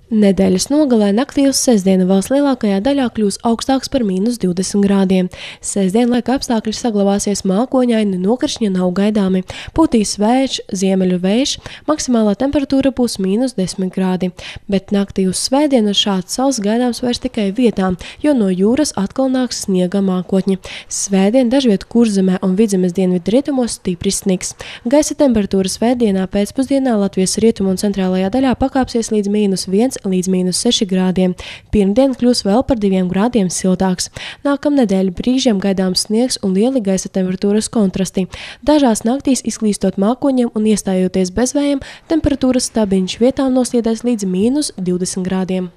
Nedēļas nogalē naktī uz sestdienu valsts lielākajā daļā kļūs augstāks par -20 grādiem. Sestdien laika apstākļi saglabāsies mākoņaini, nokrišņi nav gaidāmi. Pūtīs vējš, ziemeļu vējš, maksimālā temperatūra būs -10 grādi. Bet naktī uz svētdienu šāds sauss gaidāms vairs tikai vietām, jo no jūras atkal nāks sniega mākotņi. Svētdien dažviet Kurzemē un Vidzemes dienvidu rietumos stipris sniks. Gaisa temperatūra svētdienā pēcpusdienā Latvijas rietumu un centrālajā daļā pakāpsies līdz -1 līdz -6 grādiem. Pirmdien kļūs vēl par 2 grādiem siltāks. Nākamnedēļ brīžiem gaidāms sniegs un lieli gaisa temperatūras kontrasti. Dažās naktīs izklīstot mākoņiem un iestājoties bezvējiem, temperatūras stabiņš vietām nosliedēs līdz -20 grādiem.